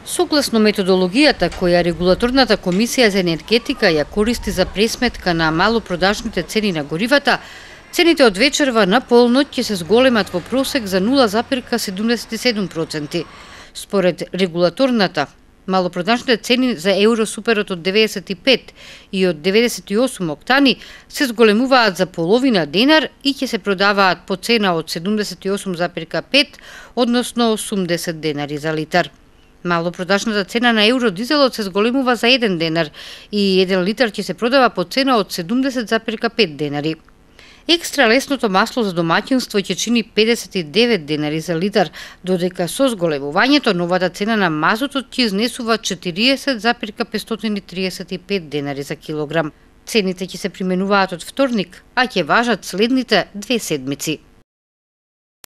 Согласно методологијата која Регулаторната комисија за енергетика ја користи за пресметка на малопродажните цени на горивата, цените од вечерва на полноќ ќе се зголемат во просек за 0,77%. Според регулаторната, малопродажните цени за евросуперот од 95 и од 98 октани се зголемуваат за половина денар и ќе се продаваат по цена од 78,5, односно 80 денари за литар. Малопродажната цена на евродизелот се зголемува за 1 денар и 1 литар ќе се продава по цена од 70,5 денари. Екстра лесното масло за домаќинство ќе чини 59 денари за литар, додека со зголемувањето новата цена на мазутот ќе изнесува 40,535 денари за килограм. Цените ќе се применуваат од вторник, а ќе важат следните 2 седмици.